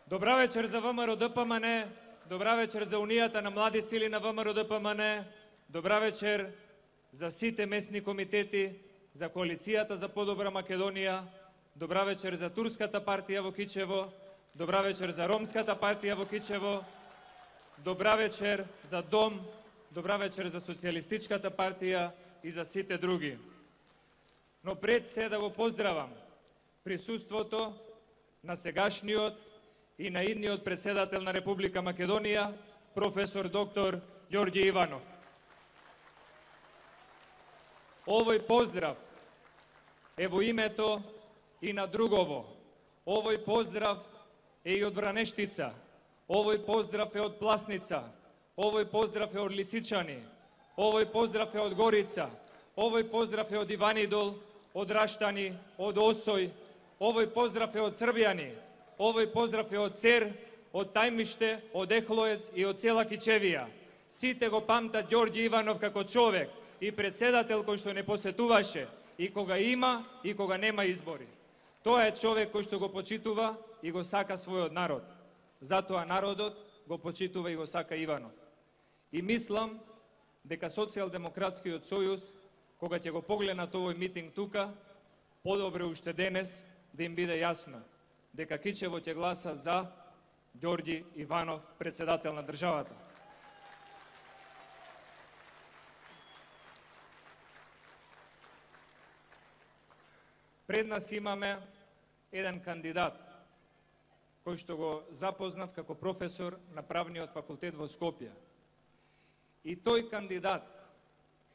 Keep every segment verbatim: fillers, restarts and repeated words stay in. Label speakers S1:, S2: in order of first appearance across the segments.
S1: Добра вечер за ВМРО Д П М Н, добра вечер за Унијата на млади сили на ВМРО Д П М Н, добра вечер за сите местни комитети, за коалицијата за подобра Македонија, добра вечер за турската партија во Кичево, добра вечер за ромската партија во Кичево, добра вечер за Дом, добра вечер за социјалистичката партија и за сите други. Но пред се да го поздравам присуството на сегашниот и на идниот председател на Република Македонија, професор доктор Ѓорѓе Иванов. Овој поздрав е во името и на другово. Овој поздрав е и од Вранештица. Овој поздрав е од Пласница. Овој поздрав е од Лисичани. Овој поздрав е од Горица. Овој поздрав е од Иванидол, од Раштани, од Осој. Овој поздрав е од Србјани. Овој поздрав е од Цер, од Тајмиште, од Ехлоец и од цела Кичевија. Сите го памтат Ѓорѓе Иванов како човек и председател кој што не посетуваше и кога има и кога нема избори. Тоа е човек кој што го почитува и го сака својот народ. Затоа народот го почитува и го сака Иванов. И мислам дека Социјалдемократскиот сојуз, кога ќе го погледнат овој митинг тука, подобре уште денес да им биде јасно дека Кичево ќе гласа за Ѓорѓе Иванов, председател на државата. Пред нас имаме еден кандидат кој што го запознав како професор на правниот факултет во Скопје. И тој кандидат,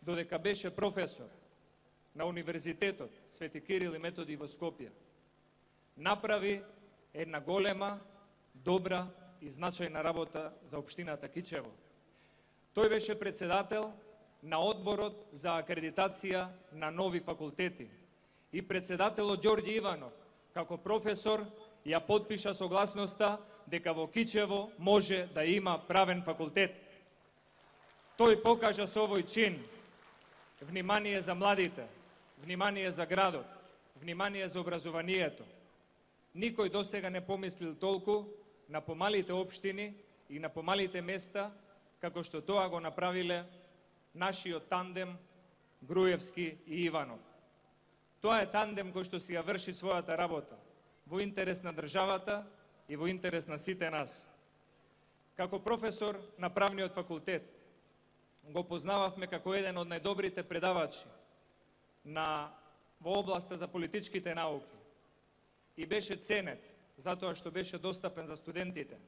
S1: додека беше професор на Универзитетот Свети Кирил и Методи во Скопје, направи една голема, добра и значајна работа за општината Кичево. Тој беше председател на одборот за акредитација на нови факултети и председателот Ѓорѓе Иванов, како професор, ја потпиша согласноста дека во Кичево може да има правен факултет. Тој покажа со овој чин внимание за младите, внимание за градот, внимание за образованието. Никој досега не помислил толку на помалите општини и на помалите места, како што тоа го направиле нашиот тандем Груевски и Иванов. Тоа е тандем кој што си ја врши својата работа во интерес на државата и во интерес на сите нас. Како професор на правниот факултет го познававме како еден од најдобрите предавачи на во областа за политичките науки и беше ценет затоа што беше достапен за студентите.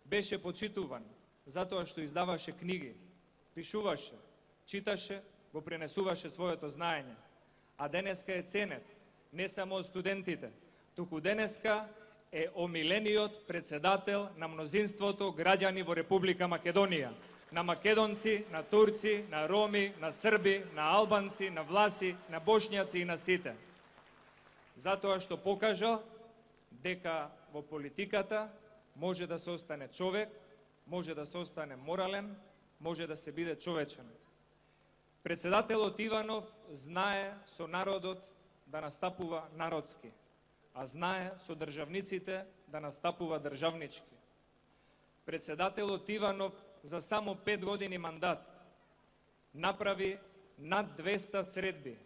S1: Беше почитуван затоа што издаваше книги, пишуваше, читаше, го пренесуваше своето знаење. А денеска е ценет не само од студентите, туку денеска е омилениот председател на мнозинството граѓани во Република Македонија. На македонци, на турци, на роми, на срби, на албанци, на власи, на бошњаци и на сите. Затоа што покажа дека во политиката може да се остане човек, може да се остане морален, може да се биде човечен. Председателот Иванов знае со народот да настапува народски, а знае со државниците да настапува државнички. Председателот Иванов за само пет години мандат направи над двеста средби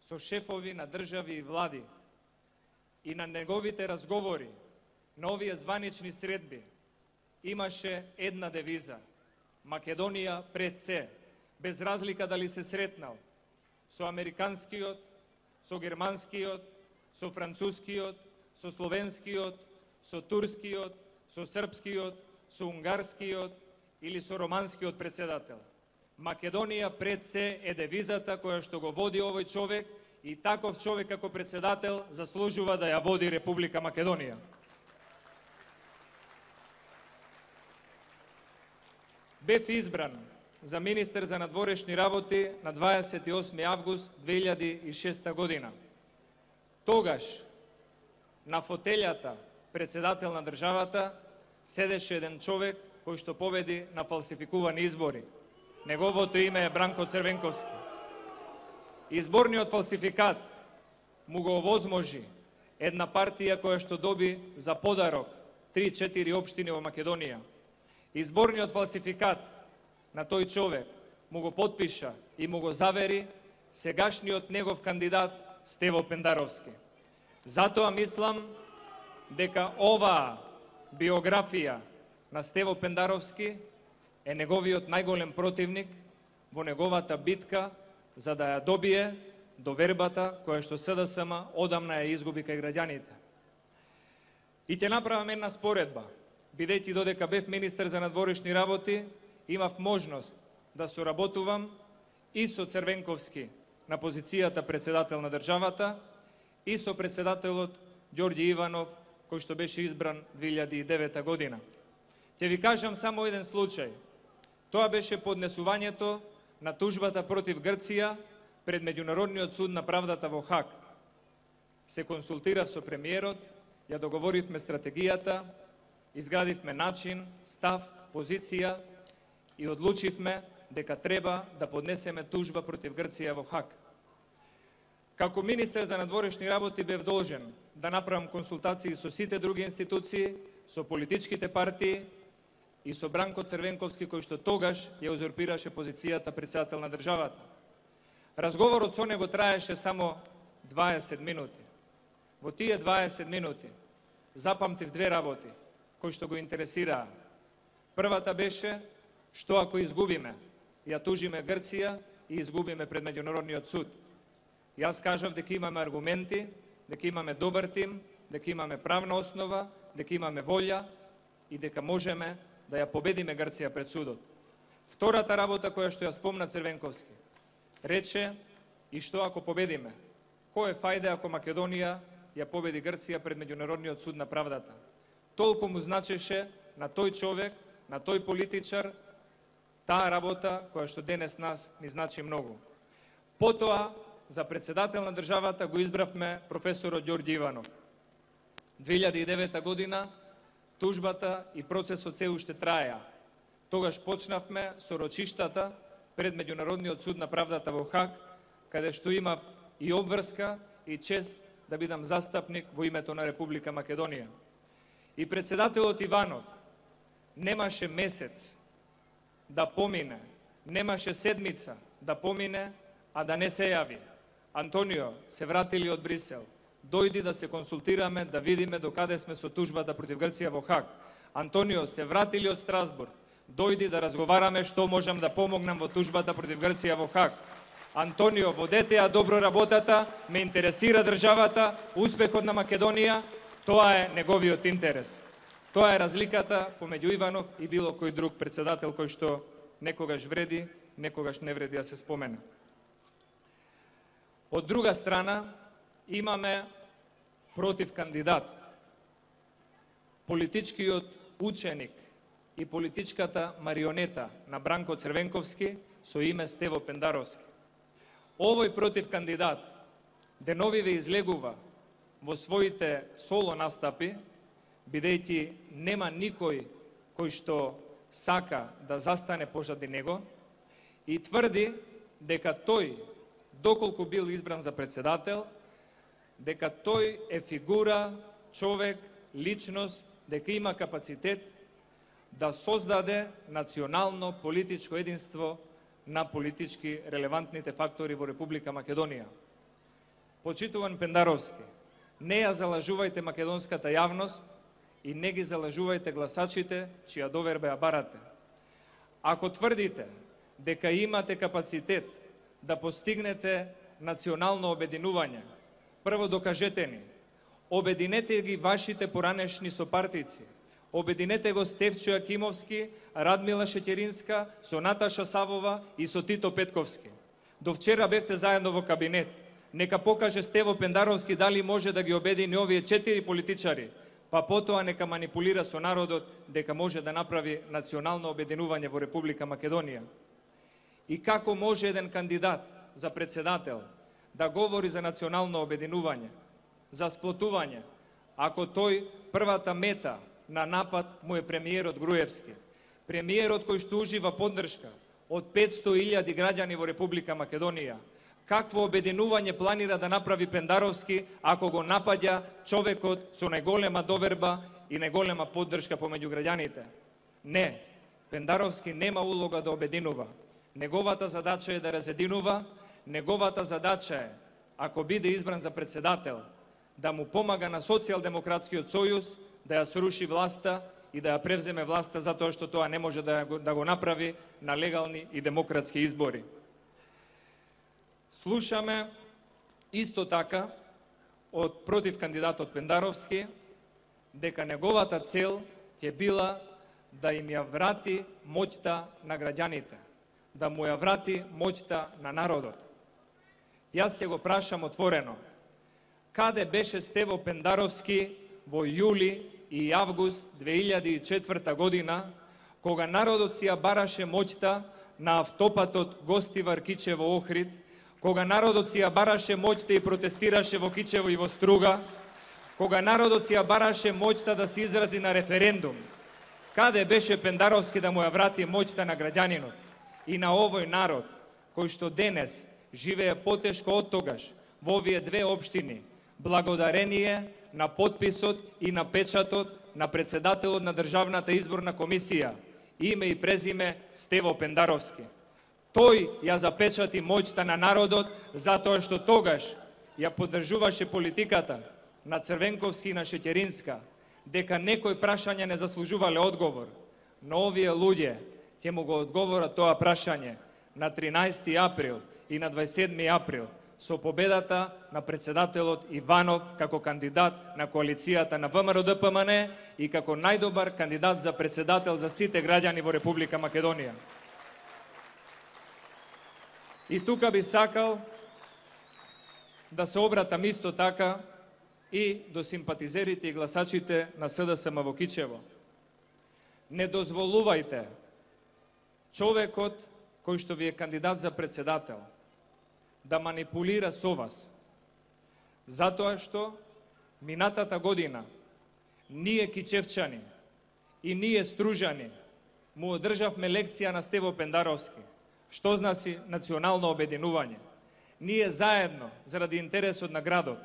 S1: со шефови на држави и влади и на неговите разговори на овие званични средби имаше една девиза: Македонија пред се, без разлика дали се сретнал со американскиот, со германскиот, со францускиот, со словенскиот, со турскиот, со српскиот, со унгарскиот или со романскиот председател. Македонија пред се е девизата која што го води овој човек и таков човек како председател заслужува да ја води Република Македонија. Бев избран за министер за надворешни работи на дваесет и осми август две илјади и шеста година. Тогаш на фотелјата председател на државата седеше еден човек кој што победи на фалсификувани избори. Неговото име е Бранко Црвенковски. Изборниот фалсификат му го овозможи една партија која што доби за подарок три-четири општини во Македонија. Изборниот фалсификат на тој човек му го потпиша и му го завери сегашниот негов кандидат Стево Пендаровски. Затоа мислам дека оваа биографија на Стево Пендаровски е неговиот најголем противник во неговата битка за да ја добие довербата која што СДСМ одамна ја изгуби кај граѓаните. И ќе направам една споредба. Бидејќи додека бев министер за надворешни работи, имав можност да соработувам и со Црвенковски на позицијата председател на државата и со председателот Ѓорѓе Иванов, кој што беше избран две илјади и девета година. Ќе ви кажам само еден случај. Тоа беше поднесувањето на тужбата против Грција пред Меѓународниот суд на правдата во Хаг. Се консултирав со премиерот, ја договоривме стратегијата, изградивме начин, став, позиција и одлучивме дека треба да поднесеме тужба против Грција во Хаг. Како министер за надворешни работи бев должен да направам консултации со сите други институции, со политичките партии и со Бранко Црвенковски, кој што тогаш ја узурпираше позицијата председател на државата. Разговорот со него траеше само дваесет минути. Во тие дваесет минути запамтив две работи кои што го интересираа. Првата беше што ако изгубиме, ја тужиме Грција и изгубиме пред Меѓународниот суд. Јас кажав дека имаме аргументи, дека имаме добар тим, дека имаме правна основа, дека имаме волја и дека можеме да ја победиме Грција пред судот. Втората работа која што ја спомна Црвенковски, рече и што ако победиме? Кој е фајде ако Македонија ја победи Грција пред Меѓународниот суд на правдата? Толку му значеше на тој човек, на тој политичар, таа работа која што денес нас ни значи многу. Потоа, за председател на државата го избравме професорот Ѓорѓе Иванов. две илјади и девета година тужбата и процесот се уште траеа. Тогаш почнавме со рочиштата пред Меѓународниот суд на правдата во Хаг, каде што имав и обврска и чест да бидам застапник во името на Република Македонија. И председателот Иванов немаше месец да помине, немаше седмица да помине, а да не се јави. Антонио, се вратили од Брисел. Дојди да се консултираме, да видиме докаде сме со тужбата против Грција во Хаг. Антонио, се вратили од Страсбург. Дојди да разговараме што можам да помогнам во тужбата против Грција во Хаг. Антонио, водете ја добро работата, ме интересира државата, успехот на Македонија, тоа е неговиот интерес. Тоа е разликата помеѓу Иванов и било кој друг председател кој што некогаш вреди, некогаш не вреди да се спомена. Од друга страна, имаме против кандидат, политичкиот ученик и политичката марионета на Бранко Црвенковски со име Стево Пендаровски. Овој против кандидат деновиве излегува во своите соло настапи, бидејќи нема никој кој што сака да застане позади него и тврди дека тој, доколку бил избран за председател, дека тој е фигура, човек, личност, дека има капацитет да создаде национално политичко единство на политички релевантните фактори во Република Македонија. Почитуван Пендаровски, не ја залажувајте македонската јавност и не ги залажувајте гласачите чија доверба ја барате. Ако тврдите дека имате капацитет да постигнете национално обединување, прво докажете ни, обединете ги вашите поранешни сопартици, обединете го Стефчо Јакимовски, Радмила Шеќеринска, со Наташа Савова и со Тито Петковски. До вчера бевте заедно во кабинет. Нека покаже Стево Пендаровски дали може да ги обедини овие четири политичари, па потоа нека манипулира со народот дека може да направи национално обединување во Република Македонија. И како може еден кандидат за председател да говори за национално обединување, за сплотување, ако тој првата мета на напад му е премиерот Груевски. Премиерот кој што ужива поддршка од петсто илјади граѓани во Република Македонија. Какво обединување планира да направи Пендаровски ако го напаѓа човекот со најголема доверба и најголема поддршка помеѓу граѓаните. Не, Пендаровски нема улога да обединува. Неговата задача е да разединува, неговата задача е, ако биде избран за председател, да му помага на Социјалдемократскиот сојуз да ја сруши власта и да ја превземе власта, затоа што тоа не може да го, да го направи на легални и демократски избори. Слушаме исто така од против кандидатот Пендаровски дека неговата цел ќе била да им ја врати моќта на граѓаните, да му ја врати моќта на народот. Јас ќе го прашам отворено, каде беше Стево Пендаровски во јули и август две илјади и четврта година, кога народот си ја бараше моќта на автопатот Гостивар Кичево Охрид, кога народот си ја бараше моќта и протестираше во Кичево и во Струга, кога народот си ја бараше моќта да се изрази на референдум. Каде беше Пендаровски да му ја врати моќта на граѓанинот и на овој народ, кој што денес живее потешко од тогаш во овие две општини, благодарение на подписот и на печатот на председателот на Државната изборна комисија, име и презиме Стево Пендаровски. Тој ја запечати моќта на народот затоа што тогаш ја поддржуваше политиката на Црвенковски и на Шеќеринска, дека некои прашања не заслужувале одговор, но овие луѓе ќе му го одговорат тоа прашање на тринаесети април и на дваесет и седми април со победата на председателот Иванов како кандидат на коалицијата на ВМРО Д П М Н и како најдобар кандидат за председател за сите граѓани во Република Македонија. И тука би сакал да се обратам исто така и до симпатизерите и гласачите на С Д С М во Кичево. Не дозволувајте човекот кој што ви е кандидат за председател да манипулира со вас, затоа што минатата година ние кичевчани и ние стружани му одржавме лекција на Стево Пендаровски, што значи национално обединување. Ние заедно, заради интересот на градот,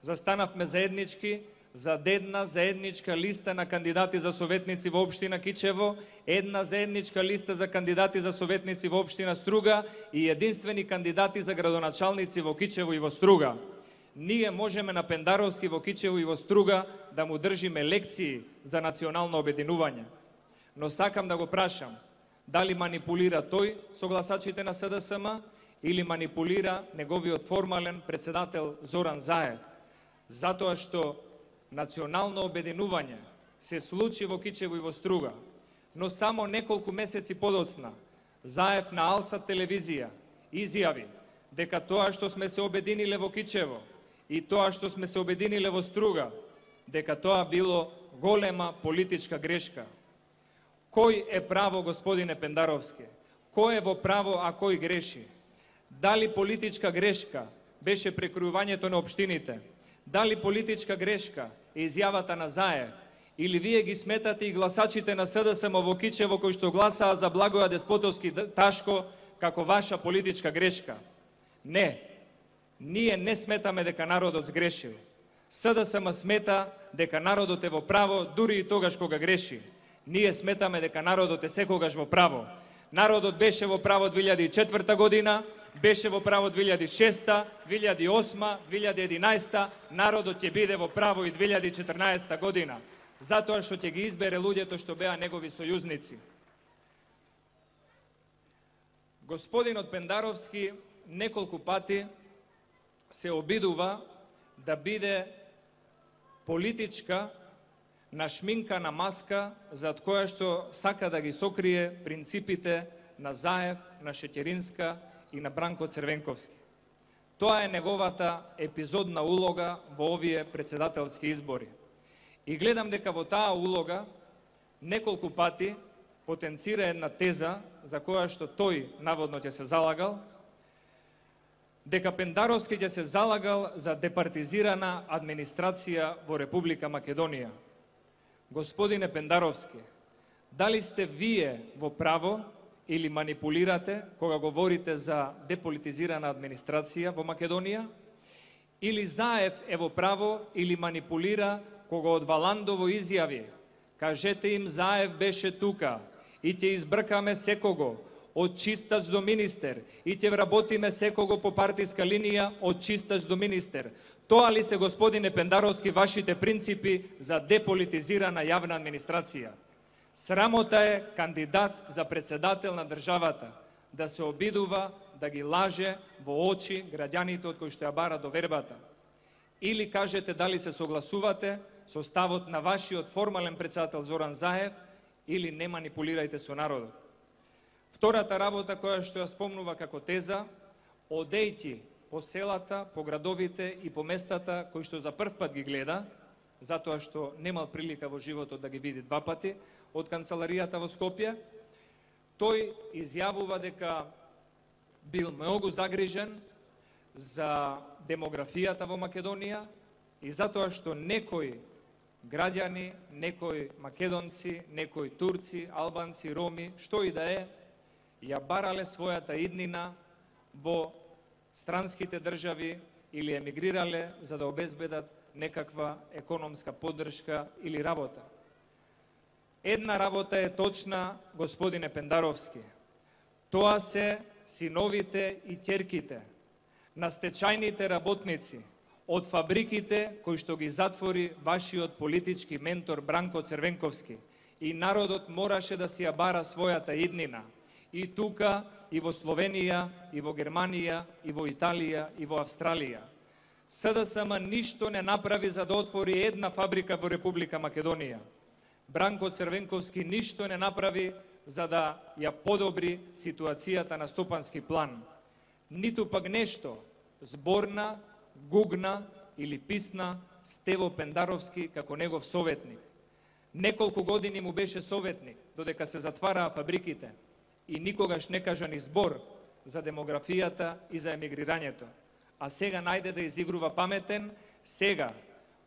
S1: застанавме заеднички за една заедничка листа на кандидати за советници во општина Кичево, една заедничка листа за кандидати за советници во општина Струга и единствени кандидати за градоначалници во Кичево и во Струга. Ние можеме на Пендаровски во Кичево и во Струга да му држиме лекции за национално обединување. Но сакам да го прашам, дали манипулира тој со гласачите на С Д С М или манипулира неговиот формален председател Зоран Заев, затоа што национално обединување се случи во Кичево и во Струга, но само неколку месеци подоцна Заев на Алсат телевизија изјави дека тоа што сме се обединиле во Кичево и тоа што сме се обединиле во Струга, дека тоа било голема политичка грешка. Кој е право, господине Пендаровски? Кој е во право, а кој греши? Дали политичка грешка беше прекројувањето на општините? Дали политичка грешка е изјавата на Заев? Или вие ги сметате и гласачите на С Д С М во Кичево кои што гласаа за Благоја Деспотовски Ташко како ваша политичка грешка? Не. Ние не сметаме дека народот сгрешил. С Д С М смета дека народот е во право дури и тогаш кога греши. Ние сметаме дека народот е секогаш во право. Народот беше во право две илјади и четврта година, беше во право две илјади и шеста, две илјади и осма, две илјади и единаесета, народот ќе биде во право и две илјади и четрнаесета година, затоа што ќе ги избере луѓето што беа негови сојузници. Господинот Пендаровски неколку пати се обидува да биде политичка нашминкана маска зад која што сака да ги сокрие принципите на Заев, на Шеќеринска и на Бранко Црвенковски. Тоа е неговата епизодна улога во овие председателски избори. И гледам дека во таа улога неколку пати потенцира една теза за која што тој наводно ќе се залагал, дека Пендаровски ќе се залагал за департизирана администрација во Република Македонија. Господине Пендаровски, дали сте вие во право или манипулирате кога говорите за деполитизирана администрација во Македонија, или Заев е во право или манипулира кога од Валандово изјави: кажете им Заев беше тука и ќе избркаме секого, од чистач до министер, и ќе вработиме секого по партиска линија, од чистач до министер. Тоа ли се, господине Пендаровски, вашите принципи за деполитизирана јавна администрација? Срамота е кандидат за председател на државата да се обидува да ги лаже во очи граѓаните од кои што ја бара довербата. Или кажете дали се согласувате со ставот на вашиот формален председател Зоран Заев, или не манипулирајте со народот. Втората работа која што ја спомнува како теза: одејќи по селата, по градовите и по местата кои што за прв пат ги гледа, затоа што немал прилика во животот да ги види два пати од канцеларијата во Скопје, тој изјавува дека бил многу загрижен за демографијата во Македонија и затоа што некои граѓани, некои македонци, некои турци, албанци, роми, што и да е, ја барале својата иднина во странските држави или емигрирале за да обезбедат некаква економска поддршка или работа. Една работа е точна, господине Пендаровски. Тоа се синовите и ќерките на стечајните работници од фабриките кои што ги затвори вашиот политички ментор Бранко Црвенковски. И народот мораше да си ја бара својата иднина. И тука, и во Словенија, и во Германија, и во Италија, и во Австралија. СДСМ ништо не направи за да отвори една фабрика во Република Македонија. Бранко Црвенковски ништо не направи за да ја подобри ситуацијата на стопански план. Ниту пак нешто зборна, гугна или писна Стево Пендаровски како негов советник. Неколку години му беше советник, додека се затвараа фабриките и никогаш не кажа ни збор за демографијата и за емигрирањето. А сега најде да изигрува паметен, сега,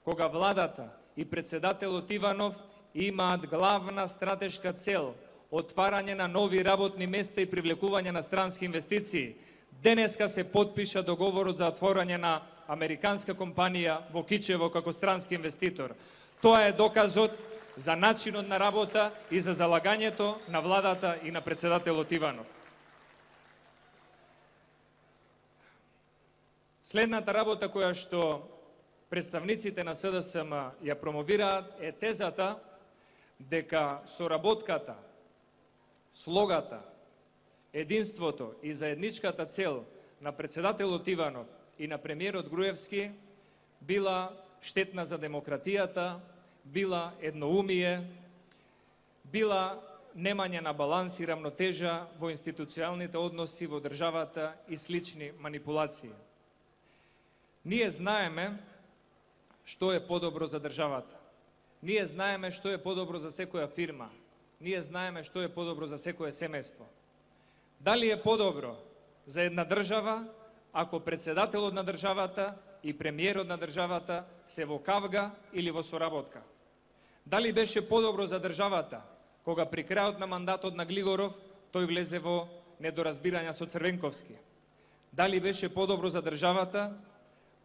S1: кога владата и председателот Иванов имаат главна стратешка цел отварање на нови работни места и привлекување на странски инвестиции. Денеска се подпиша договорот за отворање на американска компанија во Кичево како странски инвеститор. Тоа е доказот за начинот на работа и за залагањето на владата и на председателот Иванов. Следната работа која што представниците на СДСМ ја промовираат е тезата дека соработката, слогата, единството и заедничката цел на председателот Иванов и на премиерот Груевски била штетна за демократијата, била едноумие, била немање на баланс и рамнотежа во институционалните односи во државата и слични манипулации. Ние знаеме што е подобро за државата. Ние знаеме што е подобро за секоја фирма. Ние знаеме што е подобро за секое семејство. Дали е подобро за една држава ако председателот на државата и премиерот на државата се во кавга или во соработка? Дали беше подобро за државата кога при крајот на мандатот на Глигоров тој влезе во недоразбирања со Црвенковски? Дали беше подобро за државата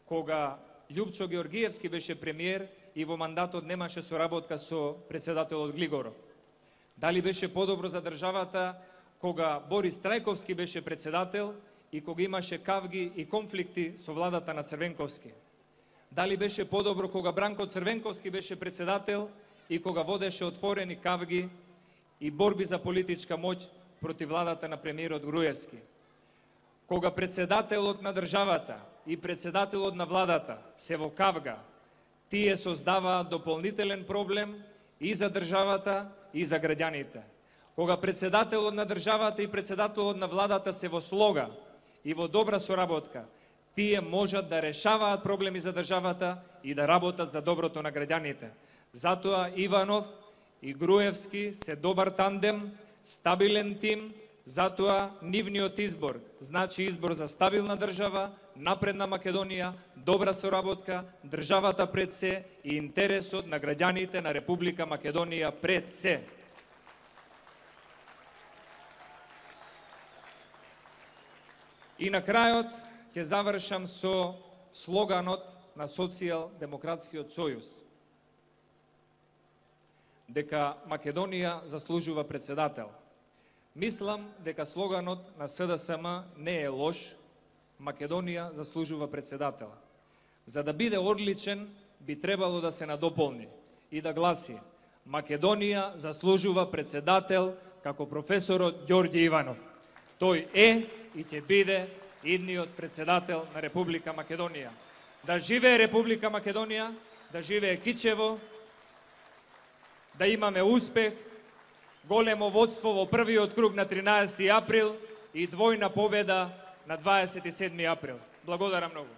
S1: кога Љупчо Георгиевски беше премиер и во мандатот немаше соработка со председателот Глигоров? Дали беше подобро за државата кога Борис Трајковски беше председател и кога имаше кавги и конфликти со владата на Црвенковски? Дали беше подобро кога Бранко Црвенковски беше председател и кога водеше отворени кавги и борби за политичка моќ против владата на премиерот Груевски? Кога председателот на државата и председателот на владата се во кавга, тие создаваат дополнителен проблем и за државата и за граѓаните. Кога председателот на државата и председателот на владата се во слога и во добра соработка, тие можат да решаваат проблеми за државата и да работат за доброто на граѓаните. Затоа Иванов и Груевски се добар тандем, стабилен тим, затоа нивниот избор значи избор за стабилна држава, напредна Македонија, добра соработка, државата пред се и интересот на граѓаните на Република Македонија пред се. И на крајот ќе завршам со слоганот на Социјал-демократскиот сојуз. дека Македонија заслужува председател. Мислам дека слоганот на С Д С М не е лош, Македонија заслужува председател. За да биде одличен, би требало да се надополни и да гласи: Македонија заслужува председател како професорот Ѓорѓе Иванов. Тој е и ќе биде идниот председател на Република Македонија. Да живее Република Македонија, да живее Кичево, да имаме успех, големо водство во првиот круг на тринаесети април и двојна победа на дваесет и седми април. Благодарам многу.